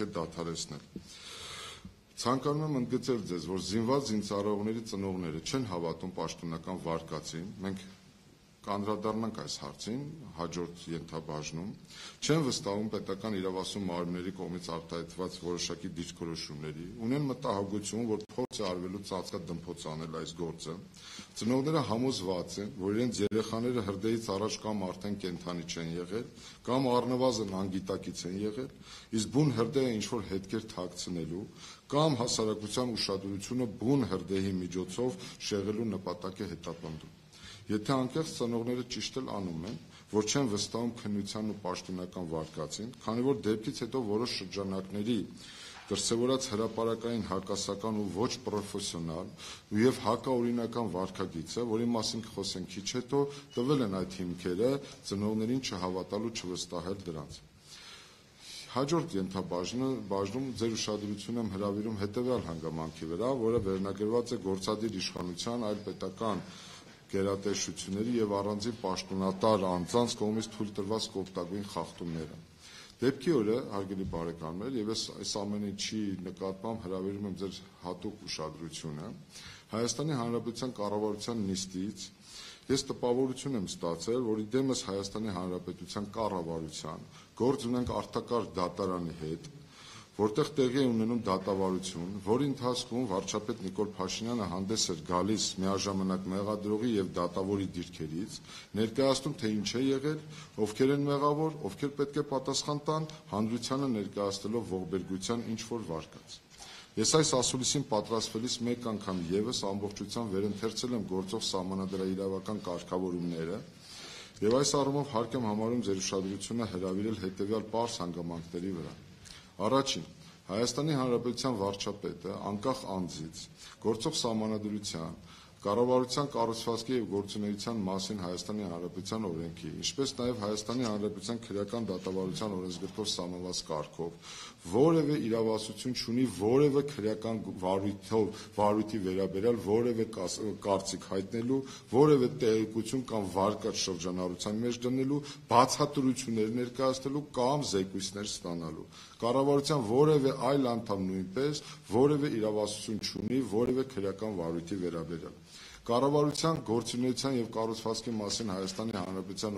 պետք է դադարեցնել։ Ցանկանում եմ ընդգծել ձեզ, որ զինված զինծառայողների ծնողները չեն հավատում պաշտոնական վարկածին, մենք կանդրադառնանք այս հարցին հաջորդ ենթաբաժնում, չեն վստահում պետական իրավասու մարմինների կողմից արտահայտված որոշակի դիրքորոշումների, ունեն մտահոգություն, որ փորձ է արվելու ծածկադմփոց անել այս գործը, ծնողները համոզված են, որ իրենց երեխաները հրդեհից առաջ կամ արդեն կենդանի չեն եղել, կամ առնվազն անգիտակից են եղել, իսկ բուն հրդեհը ինչ-որ հետքեր թաքցնելու, կամ հասարակության ուշադրությունը բուն հրդեհի միջոցով շեղելու նպատակ է հետապնդում։ Եթե անկեղծ ծնողները ճիշտ էլ անում են, որ չեն վստահում քննության ու պաշտոնական վարկածին, քանի որ դեպքից հետո որոշ շրջանակների դրսևորած հրապարակային հակասական ու ոչ պրոֆեսիոնալ եւ հակաօրինական վարքագիծը, որի մասին կխոսենք քիչ հետո, տվել են այդ հիմքերը ծնողներին չհավատալու, չվստահել դրանց։ Հաջորդ ենթաբաժնում ձեր ուշադրությունը եմ հրավիրում հետևյալ հանգամանքի վրա, որը վերնագրված է գործադիր իշխանության այլ պետական գերատեսչությունների եւ առանձին պաշտոնատար անձանց կողմից թույլ տրված կոպտագույն խախտումները։ Դեպքի օրը, հարգելի բարեկամներ, եւ այս ամեն ինչի նկատմամբ հրավիրում եմ ձեր հատուկ ուշադրությունը, Հայաստանի Հանրապետության կառավարության նիստից ես տպավորություն եմ ստացել, որ իդեմս Հայաստանի Հանրապետության կառավարության գործ ունենք արտակարգ դատարանի հետ, որտեղ տեղի է ունենում դատավարություն, որի ընթացքում վարչապետ Նիկոլ Փաշինյանը հանդես էր գալիս միաժամանակ մեղադրողի եւ դատավորի դիրքերից, ներկայացնում թե ինչ է եղել, ովքեր են մեղավոր, ովքեր պետք է պատասխան տան, հանրությանը ներկայացնելով ողբերգության ինչ-որ վարկած։ Ես այս ասուլիսին պատրաստվելիս մեկ անգամ եւս ամբողջությամբ վերընթերցել եմ գործող սահմանադրաիրավական կարգավորումները եւ այս առումով հարկ եմ համարում ձեր ուշադրությունը հրավիրել հետեւյալ պարզ հանգամանքների վրա։ Առաջին, Հայաստանի Հանրապետության վարչապետը անկախ անձից գործող սահմանադրության, կառավարության կառուցվածքի եւ գործունեության մասին Հայաստանի Հանրապետության օրենքի, ինչպես նաեւ Հայաստանի Հանրապետության քրեական դատավարության օրենսգրքով սահմանված կարգով որևէ իրավասություն չունի որևէ քրեական վարույթի վերաբերյալ որևէ կարծիք հայտնելու, որևէ տեղեկություն կամ վարկած շրջանառության մեջ դնելու, բացատրություններ ներկայացնելու կամ զեկույցներ ստանալու։ Կառավարության որևէ այլ անդամ նույնպես որևէ իրավասություն չունի որևէ քրեական վարույթի վերաբերյալ։ Կառավարության գործունեության եւ կառուցվածքի մասին Հայաստանի Հանրապետության